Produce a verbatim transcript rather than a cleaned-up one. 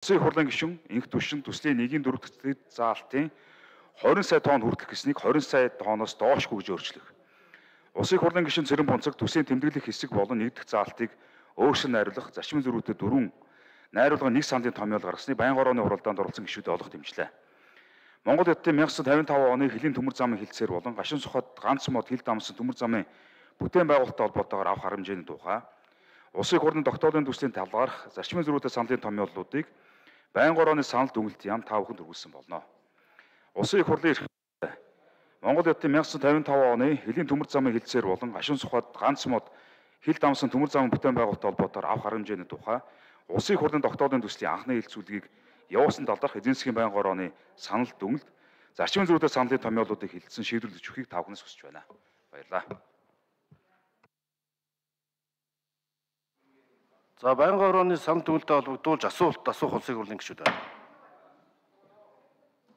Улсын их хурлын гишүүн инх түвшин төслийн нэгin дөрөв дэх заалтын хорин сая тонн хүртэх гэснийг хорин сая тонноос доошгүй гэж өөрчлөх. Улсын их хурлын гишүүн Цэрэн Бунцаг төслийн тэмдэглэх хэсэг болон нэг дэх заалтыг өөрчлөн найруулах зарчмын зөрүүтэй дөрвөн найруулга нэг сандын томьёол гаргасныг байнгын орооны хуралдаанд оролцсон гишүүдэд олох дэмжлээ. Монгол Эдийн мянга девятьсот тавин таван оны хилийн төмөр замын хилцээр болон гашин сухад ганц мод хил дамсан төмөр замын бүтээн байгуулалттай холбоотойгоор авах арга хэмжээний тухай Улсын их хурлын тогтоолын төслийн талаарх зарчмын зөрүүтэй саналын томьёоллуудыг байнгын орооны санал дүгнэлт яам та бүхэнд хүргэлсэн болно. Улсын их хурлын эрх Монгол Эдийн мянга девятьсот тавин таван оны хилийн төмөр замын хилцээр болон гашин сухад ганц мод хил дамсан төмөр замын бүтээн байгуулалттай холбоотойгоор авах арга хэмжээний тухай Улсын их хурлын тогтоолын төслийн анхны хэлэлцүүлгийг явуулсан талаарх эзэн засгийн байнгын орооны санал дүгнэлт зарчмын зөрүүтэй саналын томьёолуудыг хэлэлцэн шийдвэрлэж өгөхийг та бүхнээс хүсэж байна. Баярлалаа. За байнгын орооны санал дүгнэлтэд холбогдуулж асуулт асуух Улсын их хурлын гишүүд байна.